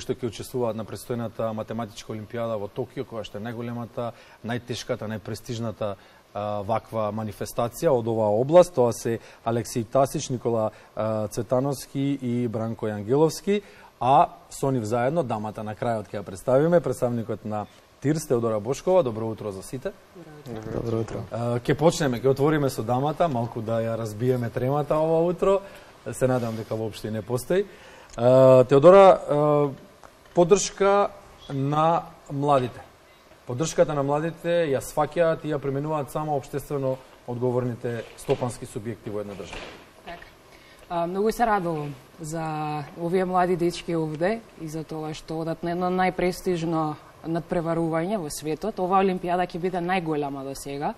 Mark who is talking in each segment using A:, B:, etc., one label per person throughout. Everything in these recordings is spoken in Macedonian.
A: што ќе учествуваат на предстојната математичка олимпијада во Токио, која што е најголемата, најтешката, најпрестижната ваква манифестација од оваа област. Тоа се Алексеј Тасич, Никола Цветановски и Бранко Јангеловски, а со нив заедно, дамата на крајот ќе ја представиме, представникот на ТИРС, Теодора Бошкова. Добро утро за сите.
B: Добро утро.
A: Ќе почнеме, ќе отвориме со дамата, малку да ја разбиеме тремата ова утро. Се надам дека воопшто не постои. Теодора, поддршка на младите. Поддршката на младите ја сваќаат и ја применуваат само општествено одговорните стопански субјекти во една држава.
C: Така. Многу се радувам за овие млади дечки овде и за тоа што одат на едно најпрестижно надпреварување во светот. Оваа олимпијада ќе биде најголема до сега.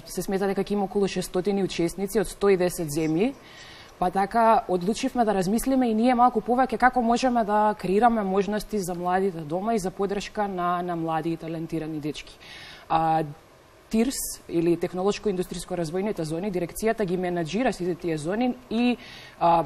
C: Се смета дека ќе има околу 600 учесници од 110 земји. Па така, одлучивме да размислиме и ние малку повеќе како можеме да креираме можности за младите дома и за поддршка на млади и талентирани дечки. ТИРС, или Технолошко-индустријско развојните зони, дирекцијата ги менаџира сите тие зони и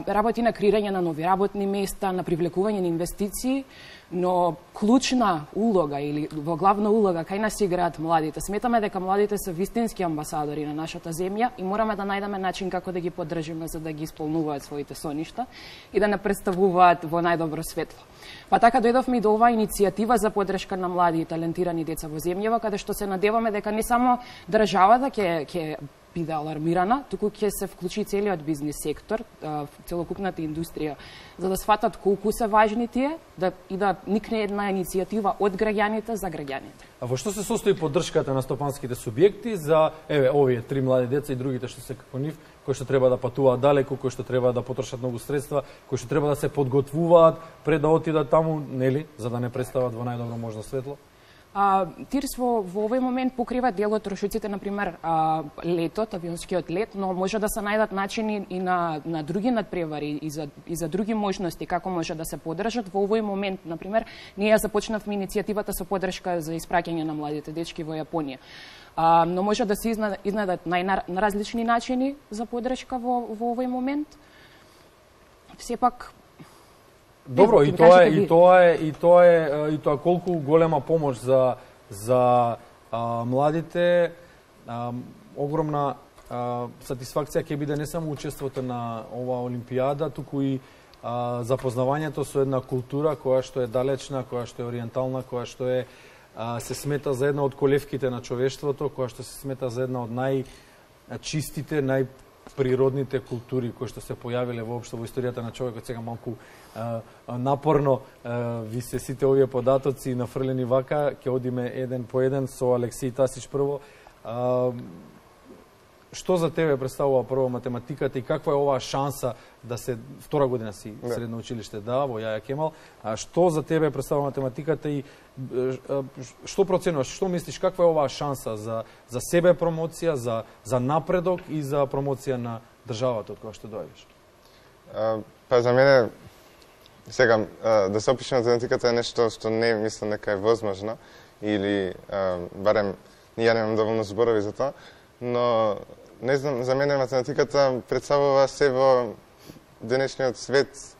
C: работи на креирање на нови работни места, на привлекување на инвестиции, но клучна улога или во главна улога кај нас играат младите. Сметаме дека младите се вистински амбасадори на нашата земја и мораме да најдеме начин како да ги поддржиме за да ги исполнуваат своите соништа и да не представуваат во најдобро светло. Па така дојдовме и до оваа иницијатива за поддршка на млади и талентирани деца во земјава, каде што се надеваме дека не само државата ќе биде алармирана, туку ќе се вклучи целиот бизнис сектор, целокупната индустрија, за да сватат колку се важни тие и да никне една иницијатива од граѓаните за граѓаните.
A: А во што се состои поддршката на стопанските субјекти за овие 3 млади деца и другите што се како нив, кои што треба да патуваат далеку, кои што треба да потрошат многу средства, кои што треба да се подготвуваат пред да отидат таму, нели, за да не представат во најдобро можно светло?
C: ТИРС во овој момент покрива дел од трошоците, например, летот, авионскиот лет, но може да се најдат начини и на други надпревари и за други можности како може да се поддржат. Во овој момент, например, ние започнавме иницијативата со поддршка за испраќање на младите дечки во Јапонија. Но може да се изнедат на различни начини за поддршка во овој момент. Сепак
A: добро, и тоа колку голема помош за младите, огромна сатисфакција ќе биде не само учеството на оваа олимпијада, туку и запознавањето со една култура која што е далечна, која што е ориентална, која што е се смета за една од колевките на човештвото, која што се смета за една од најчистите, најприродните култури кои што се појавиле воопшто во историјата на човекот. Сега малку напорно ви се сите овие податоци нафрлени вака, ќе одиме еден по еден со Алексеј Тасич прво. Што за тебе представува прво математиката и каква е оваа шанса да се втора година си средно училиште во Јаја Кемал? Што за тебе представува математиката и што проценуваш, што мислиш, каква е оваа шанса за себе промоција, за напредок и за промоција на државата од која што доаѓаш?
B: Па за мене сега да се опише математиката е нешто што не мислам дека е возможно или барем ја немам доволно зборови за тоа, но не знам, за мене математиката представува се во денешниот свет,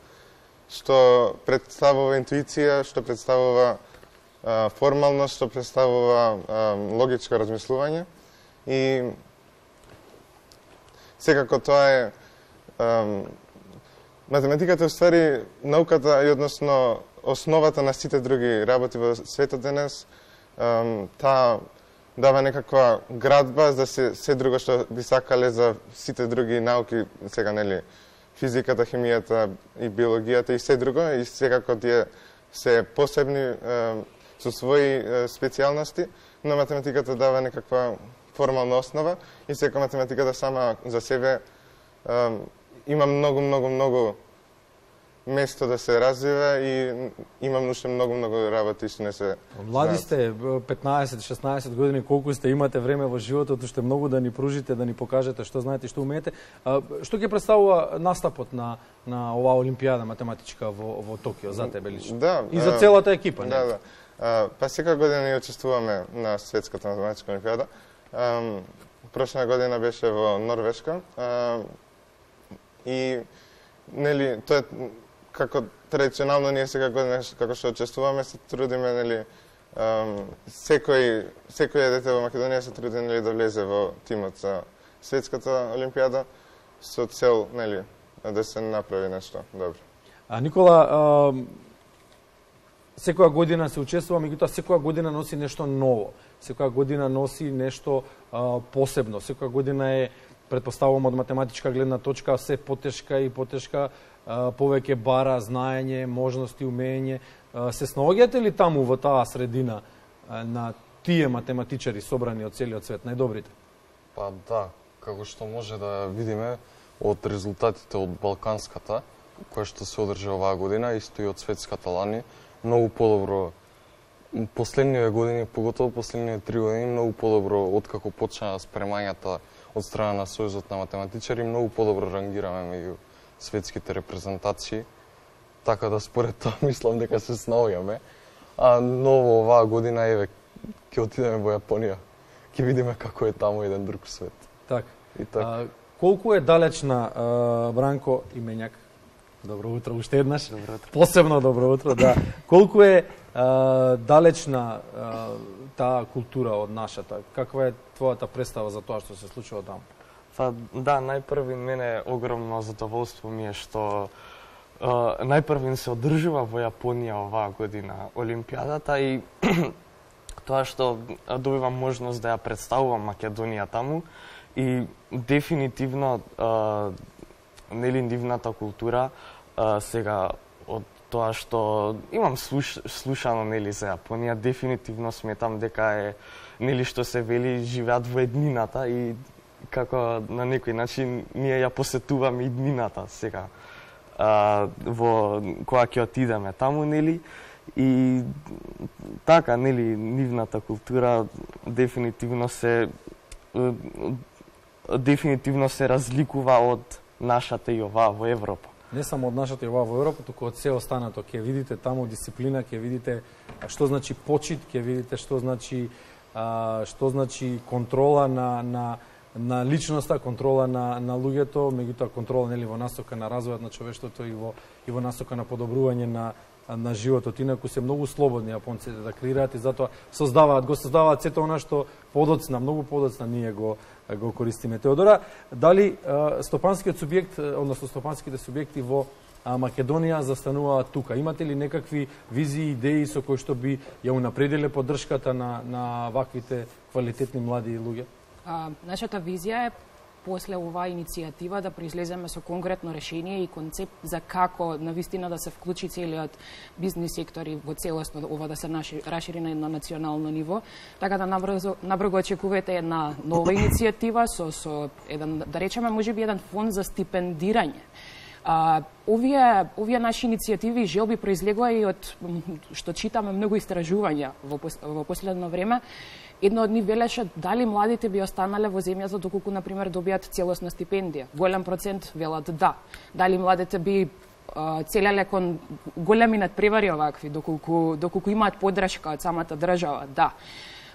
B: што представува интуиција, што представува формалност, што представува логичко размислување и секако тоа е математиката е ствари науката и односно основата на сите други работи во светот денес. Таа дава некаква градба за се друго што би сакале за сите други науки, сега нели физиката, хемијата и биологијата и се друго, и секако тие се посебни со своји специјалности, но математиката дава некаква формална основа и сека математиката сама за себе има многу место да се развива и имам уште многу работи што не се.
A: Млади сте, 15-16 години, колку сте, имате време во животот уште многу да ни пружите, да ни покажете што знаете и што умеете. Што ќе представува настапот на оваа олимпијада математичка во Токио за тебе лично?
B: Да,
A: и за целата екипа,
B: не? Да. Па секоја година ние учествуваме на светската математичка олимпијада. Прошла година беше во Норвешка и нели тоа е како традиционално ние сега како што учествуваме се трудиме, нели, секој дете во Македонија се труди, нели, да влезе во тимот за светската олимпијада со цел, нели, да се направи нешто добро.
A: Никола, секоја година се учествува, меѓутоа секоја година носи нешто ново. Секоја година носи нешто посебно. Секоја година е, претпоставувам од математичка гледна точка, се потешка и потешка, повеќе бара знаење, можности, умење. Се снаоѓате ли таму во таа средина на тие математичари собрани од целиот свет, најдобрите?
D: Па да, како што може да видиме од резултатите од Балканската, која што се одржа оваа година, исто и од светската лани, многу подобро. Последниве години, поготово последниве 3 години, многу подобро откако почна спремањата од страна на Сојузот на математичари, многу подобро рангираме меѓу светските репрезентации. Така да според тоа мислам дека се снаоѓаме. А ново оваа година еве ќе отидеме во Јапонија. Ќе видиме како е таму еден друг свет.
A: Така.
D: И така.
A: Колку е далечна, Бранко Имењак? Добро утро, уште еднаш.
E: Добро утро.
A: Посебно добро утро, да. Колку е далечна таа култура од нашата? Каква е твојата представа за тоа што се случува таму?
E: Па да, најпрви мене огромно задоволство ми е што најпрви се одржува во Јапонија оваа година Олимпијадата и тоа што добивам можност да ја представувам Македонија таму и дефинитивно нели нивната култура сега од тоа што имам слушано нели за Јапонија, дефинитивно сметам дека е нели што се вели живеат во еднината и како на некој начин ние ја посетуваме иднината сега во кога ќе отидеме таму, нели, и така, нели, нивната култура дефинитивно се разликува од нашата и оваа во Европа.
A: Не само од нашата и оваа во Европа, туку од се останато. Ќе видите таму дисциплина, ќе видите што значи почит, ќе видите што значи контрола на личноста, контрола на луѓето, меѓутоа контрола нели во насока на развојот на човештвото и во насока на подобрување на животот. Инаку се многу слободни јапонците да креираат и затоа го создаваат сето она што подоцна, многу подоцна ние го користиме. Теодора, дали стопанскиот субјект, односно стопанските субјекти во Македонија застануваат тука? Имате ли некакви визии, идеи со кои што би ја унапредиле поддршката на ваквите квалитетни млади луѓе?
C: Нашата визија е после оваа иницијатива да произлеземе со конкретно решение и концепт за како навистина да се вклучи целиот бизнис сектор и во целосно ова да се расшири на едно национално ниво. Така да набрзо очекувате една нова иницијатива со еден, да речеме, можеби еден фонд за стипендирање. Овие наши иницијативи и желби произлегува и од што читаме многу истражувања во последно време. Едно од нив велеше дали младите би останале во земјата доколку, например, добијат целосна стипендија. Голем процент велат да. Дали младите би целеле кон големи надпревари овакви, доколку имаат поддршка од самата држава, да.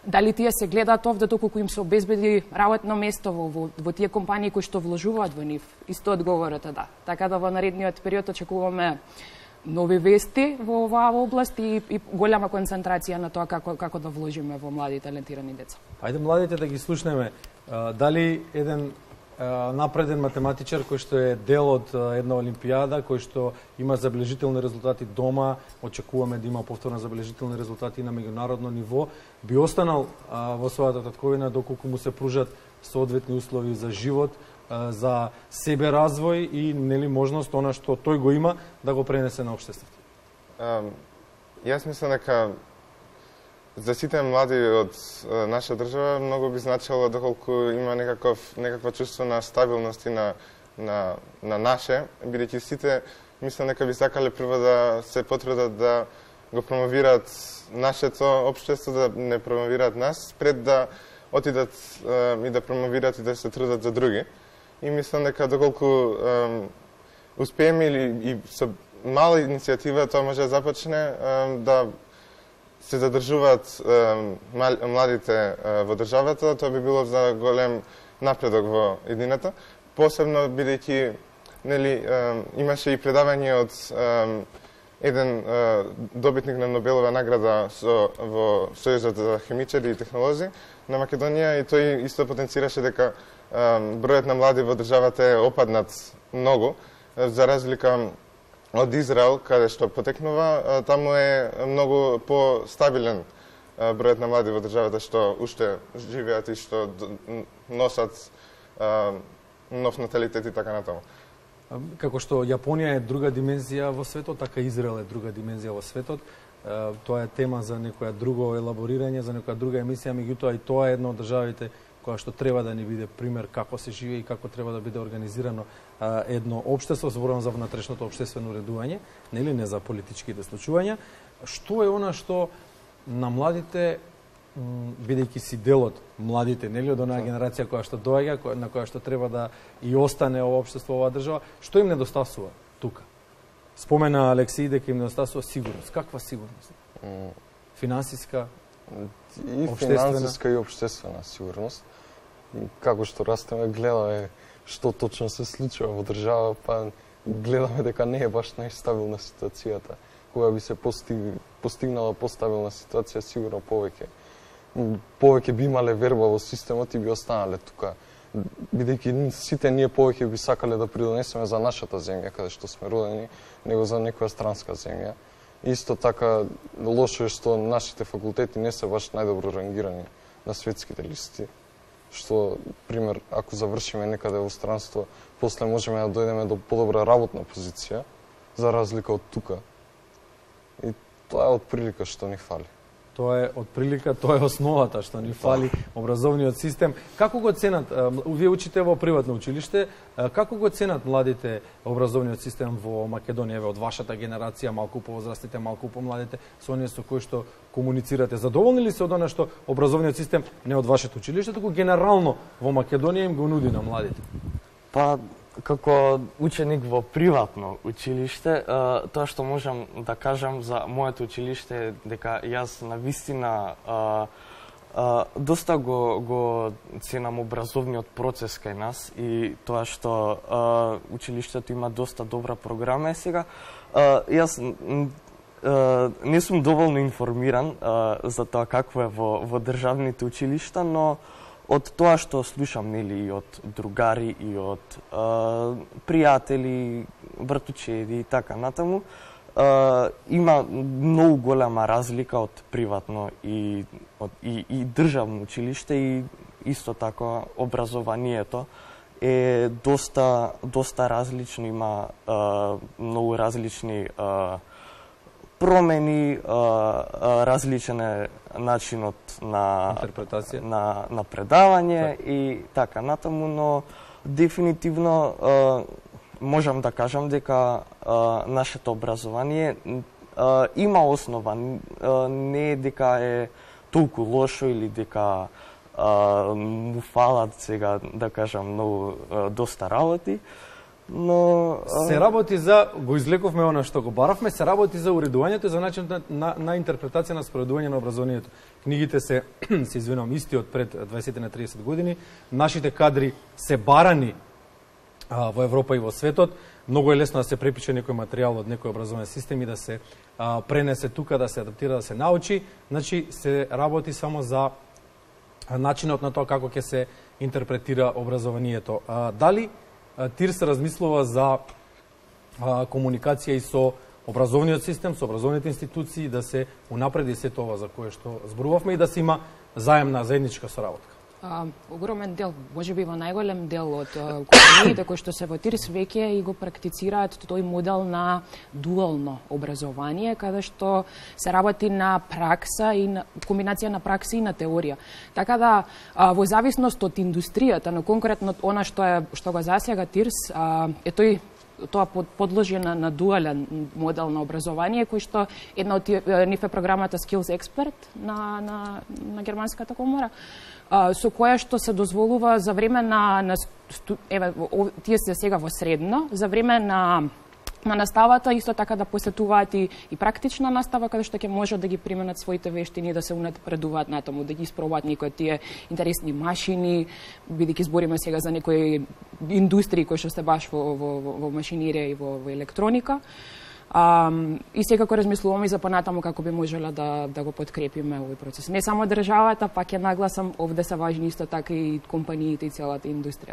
C: Дали тие се гледаат овде доколку им се обезбеди работно место во тие компании кои што вложуваат во нив? Исто одговорот е да. Така да во наредниот период очекуваме нови вести во оваа област и голема концентрација на тоа како да вложиме во млади и талентирани деца.
A: Ајде младите да ги слушнеме. Дали еден напреден математичар кој што е дел од една олимпијада, кој што има забележителни резултати дома, очекуваме да има повторно забележителни резултати на меѓународно ниво, би останал во својата татковина доколку му се пружат соодветни услови за живот, за себе развој и нели можност она што тој го има да го пренесе на општеството.
B: Јас мислам дека за сите млади од наша држава многу би значило доколку има некаква чувство на стабилност и на наше, бидејќи сите мислам дека би сакале прво да се потрудат да го промовираат нашето општество, да не промовираат нас, пред да отидат и да промовираат и да се трудат за други. И мислам дека доколку успееме и со мала иницијатива тоа може да започне да се задржуваат младите во државата, тоа би било за голем напредок во едината, посебно бидејќи нели имаше и предавање од еден добитник на Нобелова награда во Сојузот за хемичари и технолози на Македонија, и тој исто потенцираше дека бројот на млади во државата е опаднат многу, за разлика од Израел, каде што потекнува, таму е многу постабилен бројот на млади во државата што уште живеат и што носат нов наталитет и така натаму.
A: Како што Јапонија е друга димензија во светот, така Израел е друга димензија во светот. Тоа е тема за некоја друго елаборирање, за некоја друга емисија, меѓутоа и тоа е една од државите која што треба да ни биде пример како се живее и како треба да биде организирано едно општество, зборувам за внатрешното општествено уредување, нели, не за политичките случувања. Што е она што на младите, бидејќи си дел од младите, нели, од онаа генерација која што доаѓа, на која што треба да и остане ова општество, оваа држава, што им недостасува тука? Спомена Алексеј дека им недостасува сигурност. Каква сигурност? Финансиска,
D: и финансиска и општествена сигурност. Како што растеме, гледаме што точно се случува во држава, па гледаме дека не е баш најстабилна ситуацијата. Кога би се постигнала постабилна ситуација, сигурно повеќе би имале верба во системот и би останале тука. Бидејќи сите ние повеќе би сакале да придонесеме за нашата земја, каде што сме родени, него за некоја странска земја. Исто така, лошо е што нашите факултети не се баш најдобро рангирани на светските листи. Што, пример, ако завршиме некаде во странство, после можеме да дојдеме до подобра работна позиција, за разлика од тука. И тоа е од прилика што ни фали.
A: Тоа е од прилика, тоа е основата што ни фали образовниот систем. Како го ценат, вие учите во приватно училиште, како го ценат младите образовниот систем во Македонија, од вашата генерација, малку повозрастните, малку помладите, со оние со кои што комуницирате? Задоволни ли се од она што образовниот систем не од вашето училиште, туку генерално во Македонија им го нуди на младите?
E: Па, како ученик во приватно училиште, тоа што можам да кажам за моето училиште е дека јас навистина доста го ценам образовниот процес кај нас и тоа што училиштето има доста добра програма сега. Јас не сум доволно информиран за тоа какво е во државните училишта, но од тоа што слушам, нели, и од другари, и од пријатели, братучеди и така натаму, има многу голема разлика од приватно и државно училиште, и исто така образованието е доста различно, има многу различни промени, различен е начинот на
A: интерпретација,
E: на предавање и така натаму, но дефинитивно можам да кажам дека нашето образование има основа, не дека е толку лошо или дека му фалат сега, да кажам, многу доста работи. Но
A: се работи за, го излековме она што го баравме, се работи за уредувањето и за начинот на интерпретација на споредување на образованието. Книгите се извинувам, исти од пред 20 на 30 години. Нашите кадри се барани во Европа и во светот. Многу е лесно да се препише некој материјал од некој образовен систем и да се пренесе тука, да се адаптира, да се научи. Значи, се работи само за начинот на тоа како ќе се интерпретира образованието. Дали ТИР се размислува за комуникација и со образовниот систем, со образовните институции, да се унапреди се тоа за кое што зборувавме и да се има заемна, заедничка соработка?
C: Огромен дел, можеби во најголем дел од компаниите кои што се во ТИРС веќе и го практицираат тој модел на дуално образование, каде што се работи на пракса и на комбинација на пракса и на теорија. Така да во зависност од индустријата, но конкретно она што го засега ТИРС, е тоа подложена на дуален модел на образование, кој што една од нив е програмата Skills Expert на германската комора, со која што се дозволува за време тие се сега во средно, за време на наставата исто така да посетуваат и практична настава, каде што ќе можат да ги применат своите вештини, да се унапредуваат натаму, да ги испробуваат некои од тие интересни машини, бидејќи збориме сега за некои индустрии кои што се баш во машинерија и во електроника. И секако размислуваме и за понатаму како би можеле да го подкрепиме овој процес. Не само државата, пак ја нагласам, овде се важни исто така и компаниите и целата индустрија.